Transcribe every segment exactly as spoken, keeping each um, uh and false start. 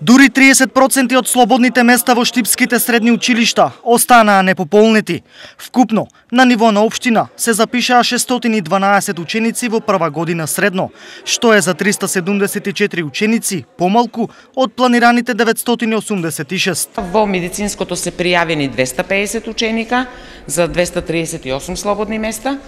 Дури триесет проценти од слободните места во штипските средни училишта останаа непополнети. Вкупно, на ниво на општина се запишаа шестстотини и дванаесет ученици во прва година средно, што е за триста седумдесет и четири ученици помалку од планираните деветстотини осумдесет и шест. Во медицинското се пријавени двеста пеесет ученика за двеста триесет и осум слободни места.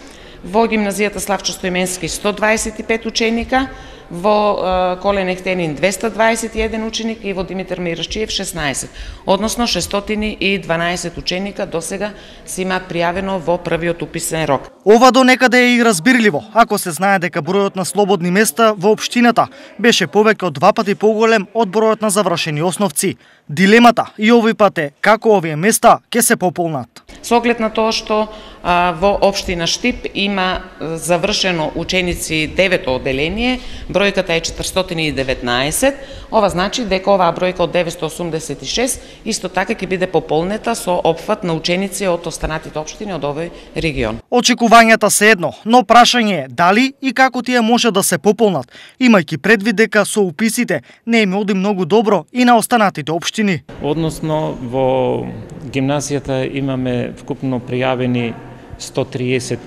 Во гимназијата Славчо Стоименски сто дваесет и пет ученика, во Колен Ехтенин двеста дваесет и еден ученик и во Димитар Мирашчиев шеснаесет, односно шестстотини и дванаесет ученика досега се имаат пријавено во првиот уписен рок. Ова до некаде е и разбирливо, ако се знае дека бројот на слободни места во општината беше повеќе од два пати поголем од бројот на завршени основци. Дилемата и овој пат е како овие места ќе се пополнат. Со оглед на тоа што а, во општина Штип има завршено ученици девето оделение, бројката е четиристотини и деветнаесет, ова значи дека оваа бројка од деветстотини осумдесет и шест исто така ќе биде пополнета со опфат на ученици од останатите општини од овој регион. Очекувањата се едно, но прашање е дали и како тие може да се пополнат, имајќи предвид дека со уписите не им оди многу добро и на останатите општини. Односно во гимназијата имаме вкупно пријавени сто триесет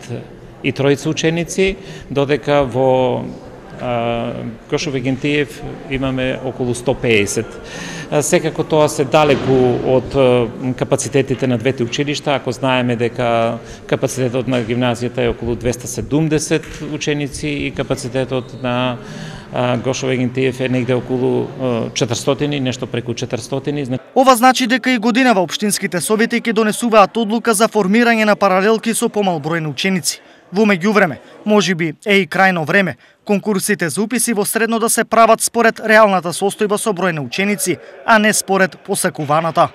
и тројца ученици, додека во Гошо Вегентиев имаме околу сто пеесет. Секако тоа се далеку од капацитетите на двете училишта, ако знаеме дека капацитетот на гимназијата е околу двеста седумдесет ученици и капацитетот на Гошо Вегентиев е негде околу четиристотини, нешто преку четиристотини. Ова значи дека и годинава општинските совети ќе донесуваат одлука за формирање на паралелки со помал број на ученици. Во меѓувреме, можеби е и крајно време конкурсите за уписи во средно да се прават според реалната состојба со број на ученици, а не според посакуваната.